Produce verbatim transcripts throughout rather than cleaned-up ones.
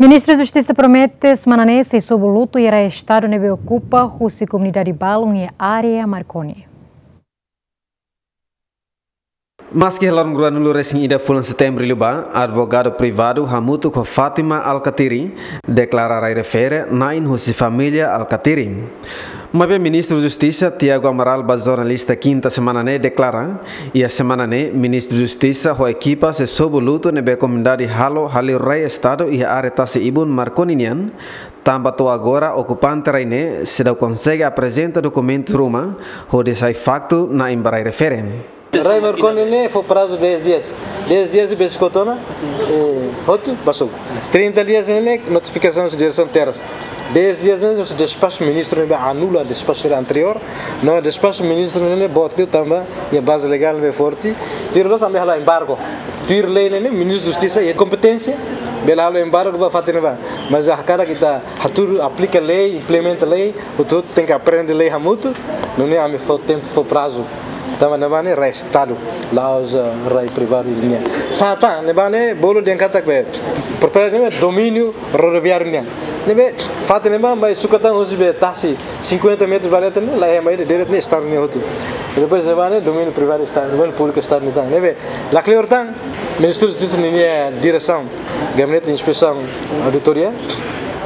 Ministru Justisa promete semana ne'e sei sobu lutu iha rai estadu ne'ebé okupa husi komunidade balun iha área Marconi. Maski iha loron ruanulu-resin-ida fulan Setembru liubá, advogadu privadu hamutuk ho Fátima Alkatiri deklara rai refere na'in husi família Alkatiri. Maibé Ministru Justisa Tiago Amaral ba jornalista Kinta semana ne'e deklara, iha semana ne'e Ministru Justisa ho ekipa sei sobu lutu ne'ebé komunidade halo haleu rai estadu iha área tasi-ibun Marconi nian, tanba to'o agora okupante rai ne'e seidauk konsege aprezenta dokumentu ruma hodi sai faktu na'in ba rai refere. Rai Marconi ne'e fó prazu dez dias. Dez dias besik hotu ona, eh, hotu ba sobu. Trinta dias ne'e notifikasaun husi diresaun terras. Dez dias ne'e husi despaxu ministru ne'ebé anula despaxu anteriór. No despaxu ministru ne'e boot liu tanba iha baze legál ne'ebé forte. Tuir loos ami halo embargo. Tuir lei ne'e Ministru Justisa iha kompeténsia bele halo embargo ba fatin ne'ebá. Mas hakarak ita hatudu aplika lei, implementa lei, hotu-hotu tenke aprende lei hamutuk, nune'e ami fó tempu, fó prazu. Tanba ne'ebá ne'e rai estadu, la'ós, eh, rai privadu nian. Sá tan, ne'ebá ne'e bolu dehan katak be, propriedade ne'e domíniu rodoviáriu nian. Ne'ebé fatin ne'ebá mai sukat tan husi be tasi cinquenta metros ba leten ne'e, la iha mai direitu ne'e estadu nian hotu. Depois ne'ebá ne'e domíniu privadu estadu, domíniu públiku estadu nian tan. Ne'ebé la kleur tan, Ministru Justisa ninia diresaun, Gabinete Inspesaun Auditoria,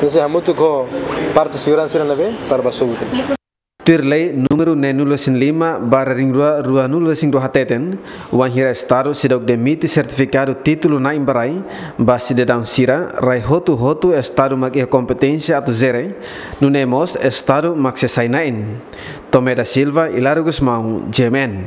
ne'e sei hamutuk ho parte seguransa sira ne'ebé para ba sobu tan. Tuir lei númeru neenulu-resin-lima barra ringrua ruanulu-resin-rua hateten, wainhira estadu seidauk demite sertifikadu títulu na'in ba rai ba sidadaun sira, rai hotu-hotu estadu mak iha kompeténsia atu jere, nune'e mós estadu mak sei sai na'in. Tomé da Silva, Hilário Gusmão, G M N.